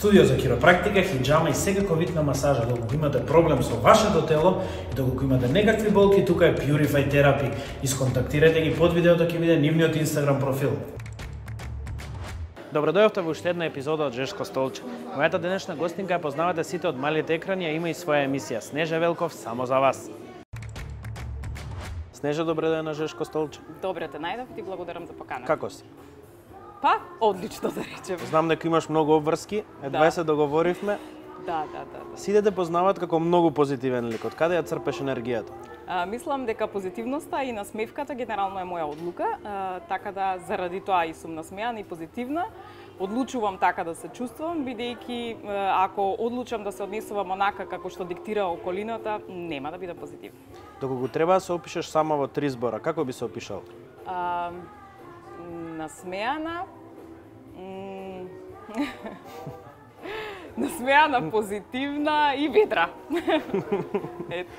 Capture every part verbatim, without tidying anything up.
Студио за хиропрактика, хиџама и секако вид на масажа. Доколку имате проблем со вашето тело и доколку имате некакви болки, тука е Purify Therapy. Исконтактирајте ги под видеото, ќе биде нивниот Инстаграм профил. Добро дојавте во уште една епизода од Жешко столче. Мојата денешна гостинка ја познавате сите од малите екрани, а има и своја емисија Снежа Велков само за вас. Снежа, добре дојде на Жешко столче. Добре те најдов, ти благодарам за поканата. Како си? Па, одлично да речем. Знам дека имаш многу обврски, едва Да. се договоривме. Да, да, да. да. Сите те познаваат како многу позитивен лик. Од каде ја црпеш енергијата? А, мислам дека позитивноста и насмевката генерално е моја одлука, а, така да заради тоа и сум насмеана и позитивна. Одлучувам така да се чувствувам, бидејќи ако одлучам да се однесувам онака како што диктира околината, нема да бидам позитивна. Доколку треба да се опишеш само во три збора, како би се опишал? А, насмеана, м, насмеана, позитивна и ведра. Ето.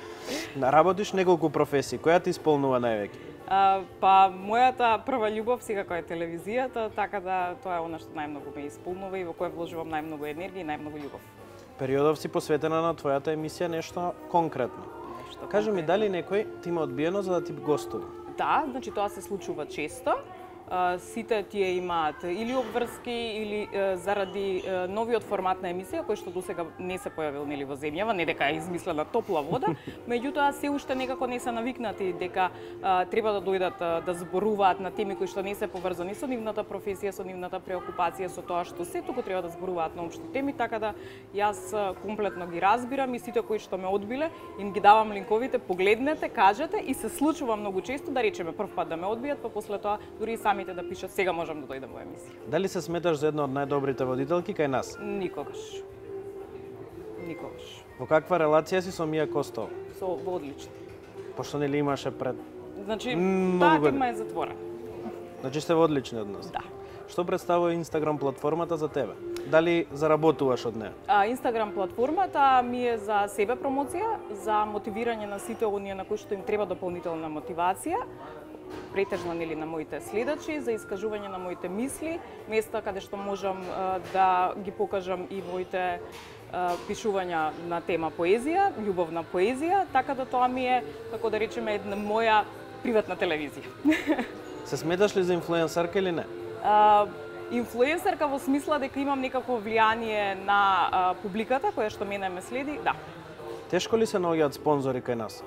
Работиш неколку професии, која ти исполнува највеќе? А, па, мојата прва љубов секако е телевизијата, така да тоа е она што најмногу ме исполнува и во кое вложувам најмногу енергија и најмногу љубов. Периодов си посветена на твојата емисија нешто конкретно. Нешто Кажи ми, конкретно. дали некој ти има одбиено за да ти гостува? Да, значи тоа се случува често. А, сите тие имаат или обврски или е, заради е, новиот формат на емисија кој што досега не се појавил нели во земјава, не дека е измислена топла вода, меѓутоа се уште некако не се навикнати дека а, треба да дојдат а, да зборуваат на теми кои што не се поврзани со нивната професија, со нивната преокупација, со тоа што се, туку треба да зборуваат на општи теми, така да јас а, комплетно ги разбирам и сите кои што ме одбиле, им ги давам линковите, погледнете, кажете и се случува многу често да речеме прв пат да ме одбијат, па после тоа дури и сами да пишат сега можам да дојдам во емисија. Дали се сметаш за една од најдобрите водителки кај нас? Никогаш. Никогаш. Во каква релација си со Мија Костова? Со во одлично. Пошто нели имаше пред... Значи, Многу таа години. тема е затворена. Значи сте во одлични односи? Да. Што представува Инстаграм платформата за тебе? Дали заработуваш од неа? А, Инстаграм платформата ми е за себе промоција, за мотивирање на сите оние на кои што им треба дополнителна мотивација, претежно нели на моите следачи, за искажување на моите мисли, места каде што можам а, да ги покажам и моите а, пишувања на тема поезија, љубовна поезија, така да тоа ми е, како да речеме, една моја приватна телевизија. Се сметаш ли за инфлуенсерка или не? А, инфлуенсерка во смисла дека имам некакво влијание на а, публиката која што мене ме следи, да. Тешко ли се наоѓаат спонзори кај нас?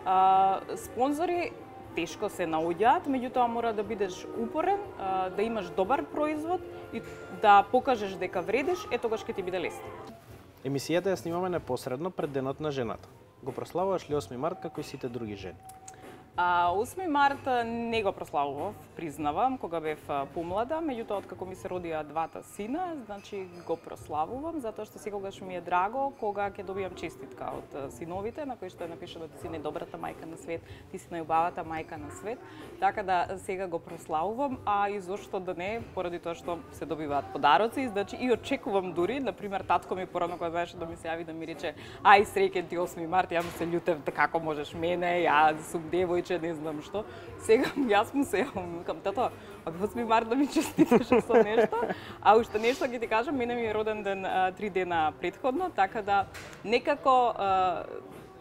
А, спонзори тешко се наоѓаат, меѓутоа мора да бидеш упорен, а, да имаш добар производ и да покажеш дека вредиш, е тогаш ќе ти биде лесно. Емисијата ја снимаме непосредно пред Денот на жената. Го прославуваш ли осми март како и сите други жени? А, осми март не го прославував, признавам, кога бев помлада, меѓутоа откако ми се родија двата сина, значи го прославувам, затоа што секогаш ми е драго кога ќе добијам честитка од синовите, на кои што е напишано да ти си најдобрата мајка на свет, ти си најубавата мајка на свет, така да сега го прославувам, а и зошто да не, поради тоа што се добиваат подароци, значи и очекувам дури, на пример татко ми порано кога беше да ми се јави да ми рече ај среќен ти осми март, ја му се љутев како можеш мене, ја сум девојче, не знам што. Сега јас му се јавам, викам тато, ако осми март да ми честиташ со нешто, а уште нешто ќе ти кажам, мене ми е роден ден а, три дена претходно, така да некако а,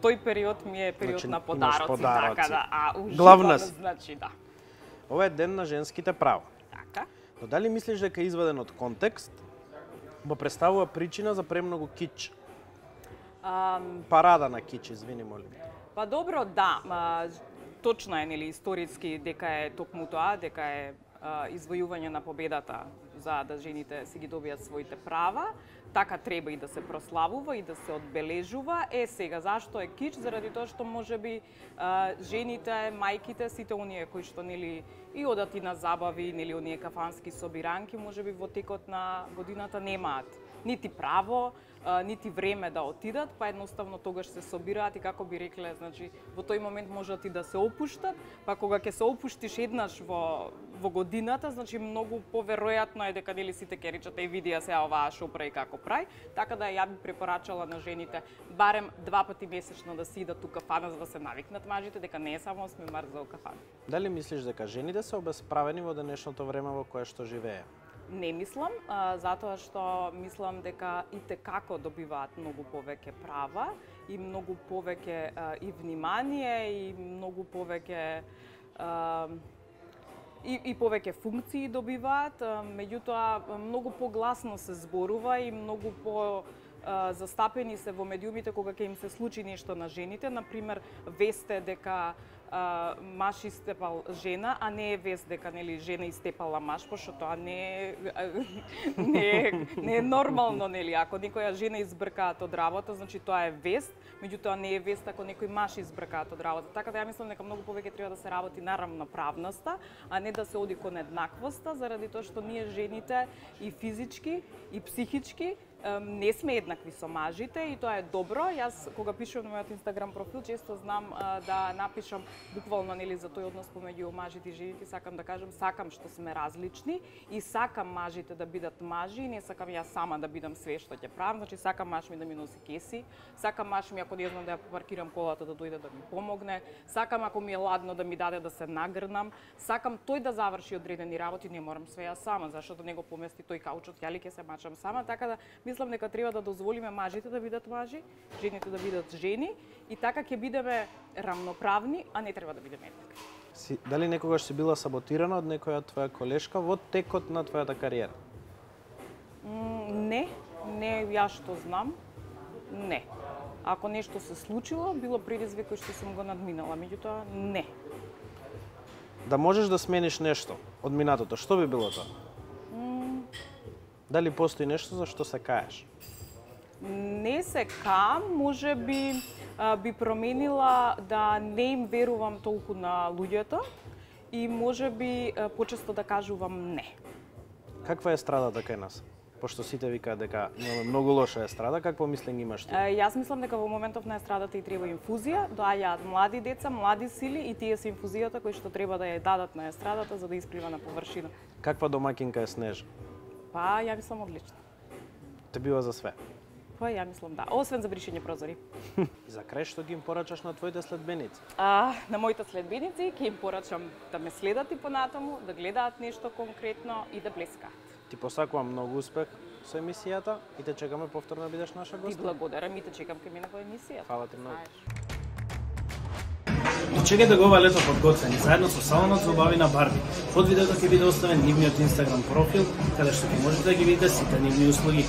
тој период ми е период Значи, на имаш подароци, подароци. така да, а уживам, Главна си. значи да. Ова е ден на женските права. Така. Но дали мислиш дека е изваден од контекст, го представува причина за премногу кич? А, Парада на кич, извини, молим. па добро, да, а, точно е нели историски дека е токму тоа, дека е а, извојување на победата за да жените си ги добијат своите права. Така треба и да се прославува и да се одбележува. Е сега зашто е кич? Заради тоа што можеби а, жените, мајките, сите оние кои што нели и одат и на забави, нели оние кафански собиранки, можеби во текот на годината немаат нити право, а, нити време да отидат, па едноставно тогаш се собираат и како би рекле, значи во тој момент можат и да се опуштат, па кога ќе се опуштиш еднаш во во годината, значи многу поверојатно е дека нели сите ќе речат е видија се оваа што прави како прави, така да ја би препорачала на жените барем два пати месечно да си идат у кафана за да се навикнат мажите дека не е само осми март за кафана. Дали мислиш дека жените се обесправени во денешното време во кое што живее? Не мислам, а, затоа што мислам дека и те како добиваат многу повеќе права и многу повеќе а, и внимание и многу повеќе а, и, и повеќе функции добиваат, а, меѓутоа многу погласно се зборува и многу по а, застапени се во медиумите кога ќе им се случи нешто на жените, например весте дека Uh, маж истепал жена, а не е вест дека нели жена истепала маж, пошто тоа не е не е, не е нормално, нели, ако некоја жена избркаат од работа, значи тоа е вест, меѓутоа не е вест ако некој маж избркаат од работа. Така да ја мислам дека многу повеќе треба да се работи на равноправноста, а не да се оди кон еднаквоста, заради тоа што ние жените и физички и психички не сме еднакви со мажите и тоа е добро. Јас кога пишувам на мојот Инстаграм профил, често знам а, да напишам буквално нели за тој однос помеѓу мажите и жените, сакам да кажам сакам што сме различни и сакам мажите да бидат мажи, не сакам јас сама да бидам све што ќе правам, значи сакам маж ми да ми носи кеси, сакам маж ми ако не знам да ја паркирам колата да дојде да ми помогне, сакам ако ми е ладно да ми даде да се нагрнам, сакам тој да заврши одредени работи, не морам све јас сама, зашто да не го помести тој каучот, ја ли ќе се мачам сама, така да мислам дека треба да дозволиме мажите да бидат мажи, жените да бидат жени и така ќе бидеме рамноправни, а не треба да бидеме еднакви. Си, дали некогаш си била саботирана од некоја твоја колешка во текот на твојата кариера? Mm, не, не јас што знам, не. Ако нешто се случило, било предизвик кој што сум го надминала, меѓутоа не. Да можеш да смениш нешто од минатото, што би било тоа? Mm. Дали постои нешто за што се каеш? Не се кам, може би а, би променила да не им верувам толку на луѓето и може би а, почесто да кажувам не. Каква е естрадата кај нас? Пошто сите викаат дека имаме многу лоша естрада, какво мислење имаш ти? А, јас мислам дека во моментов на естрадата и треба инфузија, доаѓаат млади деца, млади сили и тие се инфузијата кои што треба да ја дадат на естрадата за да исплива на површина. Каква домакинка е Снежа? Па, ја мислам одлично. Те бива за све? Па, ја мислам да. Освен за бришење прозори. И за крај што ги им порачаш на твоите следбеници? А, на моите следбеници ќе им порачам да ме следат и понатаму, да гледаат нешто конкретно и да блескаат. Ти посакувам многу успех со емисијата и те чекаме повторно да бидеш наша Ти гостка. благодарам и те чекам кај мене во емисијата. Фала ти многу. Дочекајте го ова лето подготвени заедно со салонот за убави на Барби. Под видеото ќе биде оставен нивниот Инстаграм профил, каде што ќе можете да ги видите сите нивни услуги.